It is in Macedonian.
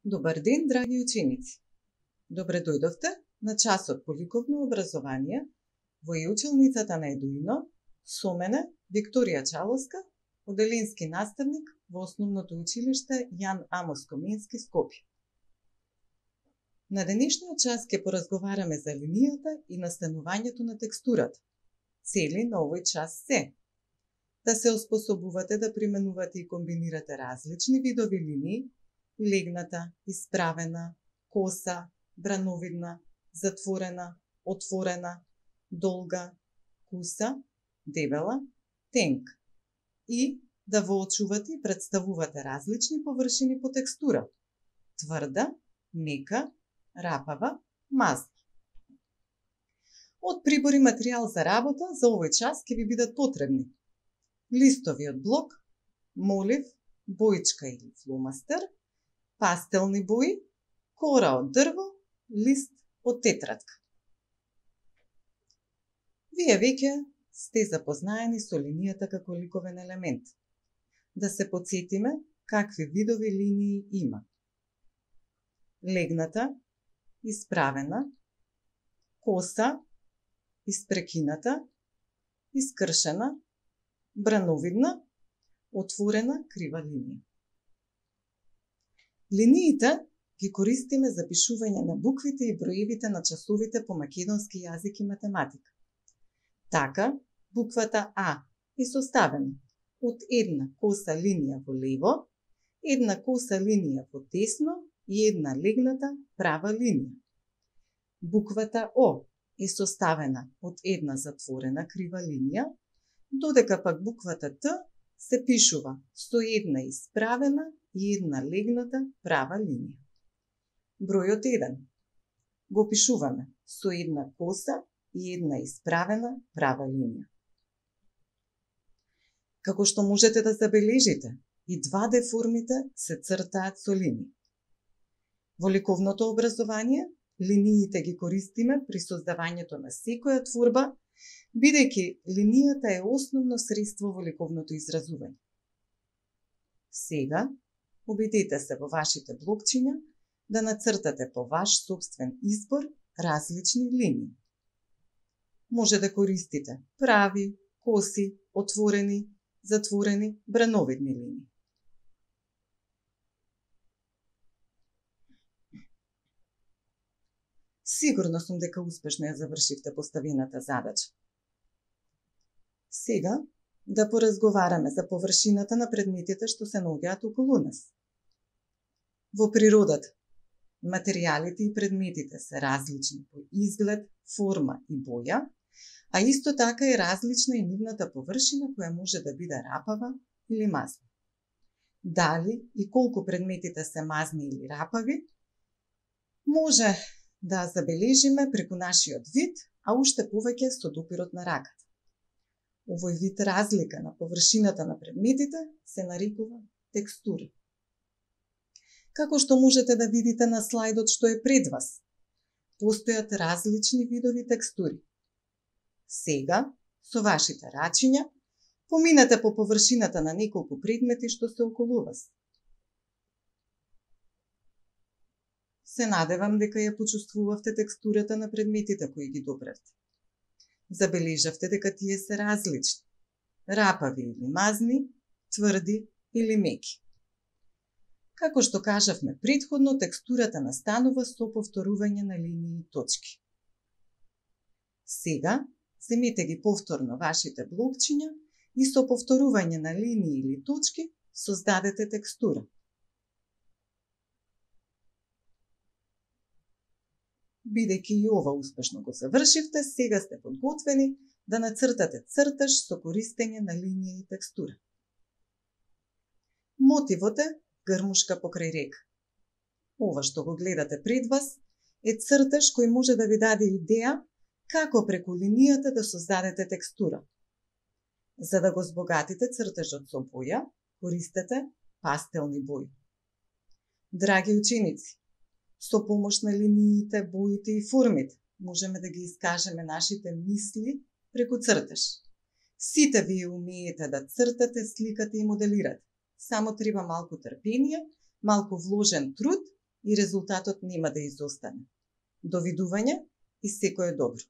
Добар ден, драги ученици! Добре дојдовте на часот по ликовно образование во училницата на Едуино, со мене Викторија Чаловска, оделенски наставник во Основното училиште Јан Амос Комински, Скопје. На денешниот час ќе поразговараме за линијата и настанувањето на текстурата. Цели на овој час се да се оспособувате да применувате и комбинирате различни видови линии: легната, исправена, коса, брановидна, затворена, отворена, долга, куса, дебела, тенк, и да воочувате и представувате различни површини по текстура: тврда, мека, рапава, мазна. Од прибори материјал за работа за овој час ќе ви бидат потребни: листови од блок, молив, боичка или фломастер, пастелни бои, кора од дрво, лист од тетрадка. Вие веќе сте запознаени со линијата како ликовен елемент. Да се потсетиме какви видови линии има: легната, исправена, коса, испрекината, искршена, брановидна, отворена крива линија. Линиите ги користиме за пишување на буквите и броевите на часовите по македонски јазик и математика. Така, буквата А е составена од една коса линија во лево, една коса линија во десно и една легната права линија. Буквата О е составена од една затворена крива линија, додека пак буквата Т се пишува со една исправена и една легната права линија. Бројот 1 го пишуваме со една коса и една исправена права линија. Како што можете да забележите, и 2D формите се цртаат со линии. Во ликовното образование, линиите ги користиме при создавањето на секоја творба, бидејќи линијата е основно средство во ликовното изразување. Сега, обидете се во вашите блокчиња да нацртате по ваш сопствен избор различни линии. Може да користите прави, коси, отворени, затворени, брановидни линии. Сигурно сум дека успешно ја завршивте поставената задача. Сега да поразговараме за површината на предметите што се наоѓаат околу нас. Во природата, материјалите и предметите се различни по изглед, форма и боја, а исто така е различна и нивната површина која може да биде рапава или мазна. Дали и колку предметите се мазни или рапави, може да забележиме преку нашиот вид, а уште повеќе со допирот на раката. Овој вид разлика на површината на предметите се нарекува текстура. Како што можете да видите на слайдот што е пред вас, постојат различни видови текстури. Сега, со вашите рачиња, поминете по површината на неколку предмети што се околу вас. Се надевам дека ја почувствувавте текстурата на предметите кои ги допревте. Забележавте дека тие се различни: рапави или мазни, тврди или меки. Како што кажавме претходно, текстурата настанува со повторување на линии и точки. Сега, земете ги повторно вашите блокчиња и со повторување на линии или точки создадете текстура. Бидејќи и ова успешно го завршивте, сега сте подготвени да нацртате цртаж со користење на линија и текстура. Мотивот е грмушка покрај река. Ова што го гледате пред вас е цртаж кој може да ви даде идеја како преку линијата да создадете текстура. За да го збогатите цртажот со боја, користете пастелни бои. Драги ученици, со помош на линиите, боите и формите можеме да ги искажеме нашите мисли преку цртаж. Сите вие умеете да цртате, сликате и моделирате. Само треба малку трпение, малку вложен труд и резултатот нема да изостане. До видување и секое добро!